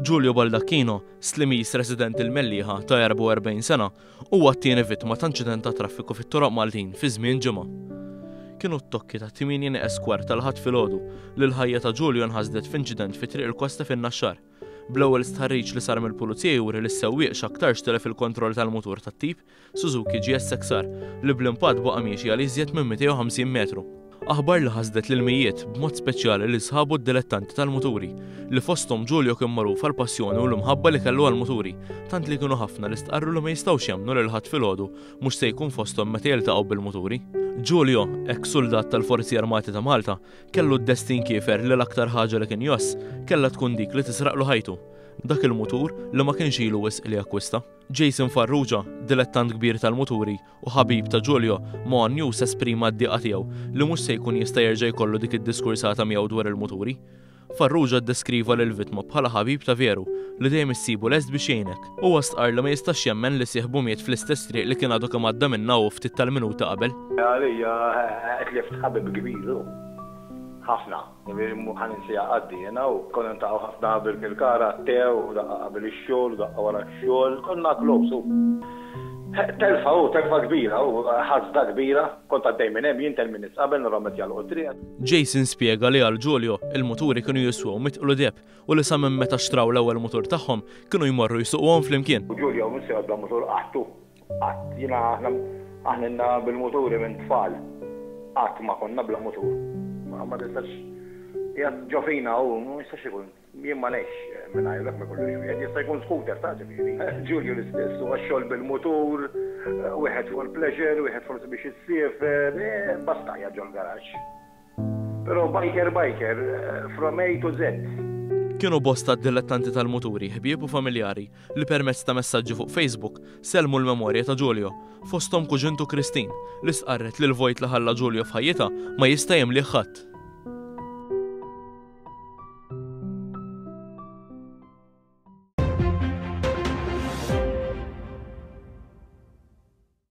Giulio Baldacchino, Slimiż residenti l-Mellieħa ta' 44 sena, huwa t-tieni vittma ta' inċident ta' traffiku fit-toroq Maltin fi żmien ġimgħa. Kienu t-tokki ta' 8 nieqes kwart tal-Ħadd filgħodu li l-ħajja ta' Giulio nħasdet f'inċident fi Triq il-Kosta fin-Naxxar. Bl-ewwel stħarriġ li sar mill-Pulizija juri li s-sewwieq x'aktarx tilef il-kontroll tal-mutur tat-tip Suzuki GSX-R li bl-impatt baqa' miexi għal iżjed minn 250 metru. Aħbar li ħasdet lil mijiet, b'mod speċjali lil sħabu d-dilettanti tal-muturi, li fosthom Giulio kien magħruf għall-passjoni u l-imħabba li kellu għall-muturi, tant li kienu ħafna li stqarru li ma jistgħux jemmnu li l-Ħadd filgħodu mhux se jkun fosthom meta jiltaqgħu bil-muturi. Giulio, eks suldat tal-Forzi Armati ta' Malta, kellu d-destin kiefer li l-aktar ħaġa li kien jgħożż kellha tkun dik li tisraqlu ħajtu, dak il-mutur li ma kienx ilu wisq li akkwista. Jason Farrugia, dilettant kbir tal-muturi u ħabib ta' Giulio, ma' one News esprima d-dieqa tiegħu li mhux se jkun jista' jerġa' jkollu dik id-diskursata miegħu dwar il-muturi. Farrugia ddeskriva lill-vittma bħala ħabib ta' veru li dejjem issibu lest biex jgħinek. Huwa stqarr li ma jistax jemmen li sieħbu miet fl-istess triq li kien għadu kemm għadda minnha hu ftit tal-minuti qabel. Għalija tlift ħabib kbir hu. Ħafna. Jiġifieri mhu ħa ninsiha qatt di jiena u konna niltaqgħu ħafna Birkirkara għat-te u daqqa qabel ix-xogħol u daqqa wara x-xogħol, konna close u telfa hu, telfa kbira hu, ħasda kbira, kont għaddej minn hemm jien ten minutes qabel narahom qed jagħlqu t-triq. Jason spjega li għal Giulio, il-muturi kienu jiswew mitqlu deheb u li sa minn meta xtraw l-ewwel mutur tagħhom kienu jmorru jsuquhom flimkien. Giulio mhux se jgħodd bla mutur qatt hu. Qatt. Jiena aħna aħna ilna bil-muturi minn tfal. Qatt ma konna bla mutur. Ma tistax qiegħed ġo fina hu, ma jistax ikun. Jien ma ngħixx mingħajru jekk ma jkollux wieħed. Jista' jkun scooter ta' ġifieri. Ġulju l-istess, huwa x-xogħol bil-mutur, wieħed for pleasure, wieħed forsi biex issiefer, basta qiegħed ġol-garaxx. Però biker biker, from A to Z. Kienu bosta d-dilettanti tal-muturi, ħbieb u familjari, li permezz ta' messaġġi fuq Facebook sellmu l-memorja ta' Giulio, fosthom kuġintu Christine, li stqarret li l-vojt li ħalla Giulio f'ħajjitha ma jista' jimlih ħadd.